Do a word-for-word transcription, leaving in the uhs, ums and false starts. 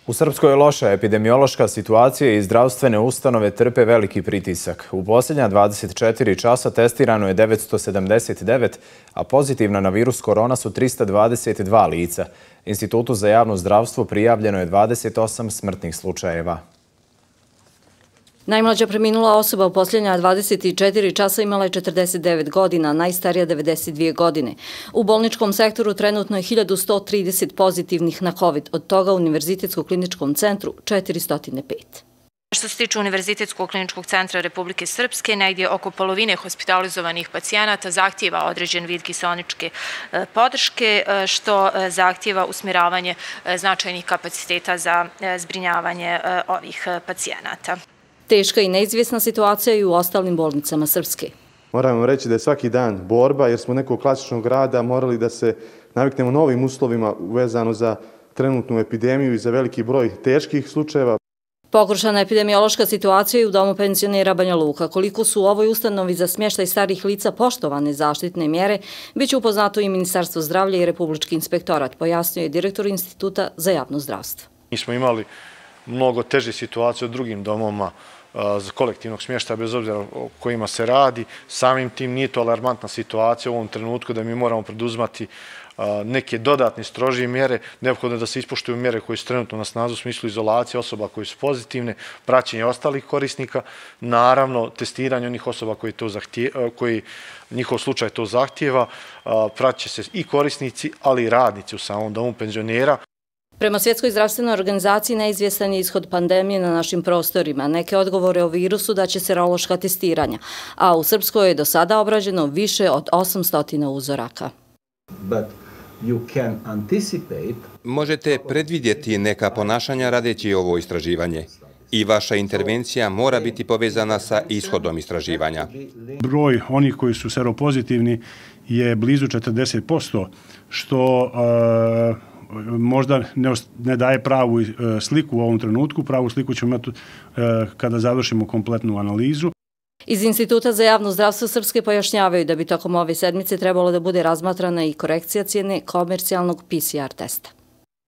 U Srpskoj je loša epidemiološka situacija i zdravstvene ustanove trpe veliki pritisak. U posljednja dvadeset četiri časa testirano je devetsto sedamdeset devet, a pozitivna na virus korona su trista dvadeset dva lica. Institutu za javno zdravstvo prijavljeno je dvadeset osam smrtnih slučajeva. Najmlađa preminula osoba u posljednja dvadeset četiri časa imala je četrdeset devet godina, najstarija devedeset dvije godine. U bolničkom sektoru trenutno je hiljadu sto trideset pozitivnih na COVID, od toga u Univerzitetskog kliničkom centru četiristo pet. Što se tiče Univerzitetskog kliničkog centra Republike Srpske, negdje oko polovine hospitalizovanih pacijenata zahtijeva određen vid kiseoničke podrške, što zahtijeva usmjeravanje značajnih kapaciteta za zbrinjavanje ovih pacijenata. Teška i neizvjesna situacija i u ostalim bolnicama Srpske. Moramo reći da je svaki dan borba, jer smo nekog klasičnog rada morali da se naviknemo novim uslovima vezano za trenutnu epidemiju i za veliki broj teških slučajeva. Pogoršana epidemiološka situacija i u domu penzionera Banja Luka. Koliko su u ovoj ustanovi za smještaj starih lica poštovane zaštitne mjere, bit će upoznato i Ministarstvo zdravlja i Republički inspektorat, pojasnio je direktor Instituta za javno zdravstvo. Mi smo imali mnogo teže situacije u drugim domovima za kolektivnog smještaja, bez obzira o kojima se radi. Samim tim nije to alarmantna situacija u ovom trenutku da mi moramo preduzimati neke dodatne strožije mjere. Neophodno je da se ispoštuju mjere koje su trenutno na snazi u smislu izolacije osoba koje su pozitivne, praćenje ostalih korisnika, naravno testiranje onih osoba koji, to zahtije, koji njihov slučaj to zahtijeva, praće se i korisnici, ali i radnici u samom domu penzionera. Prema Svjetskoj zdravstvenoj organizaciji neizvjestan je ishod pandemije na našim prostorima. Neke odgovore o virusu daće serološka testiranja, a u Srpskoj je do sada obrađeno više od osamsto uzoraka. Možete predvidjeti neka ponašanja radeći ovo istraživanje i vaša intervencija mora biti povezana sa ishodom istraživanja. Broj onih koji su seropozitivni je blizu četrdeset posto, što možda ne daje pravu sliku u ovom trenutku. Pravu sliku ćemo imati kada završimo kompletnu analizu. Iz Instituta za javno zdravstvo Srpske pojašnjavaju da bi tokom ove sedmice trebalo da bude razmatrana i korekcija cijene komercijalnog P C R testa.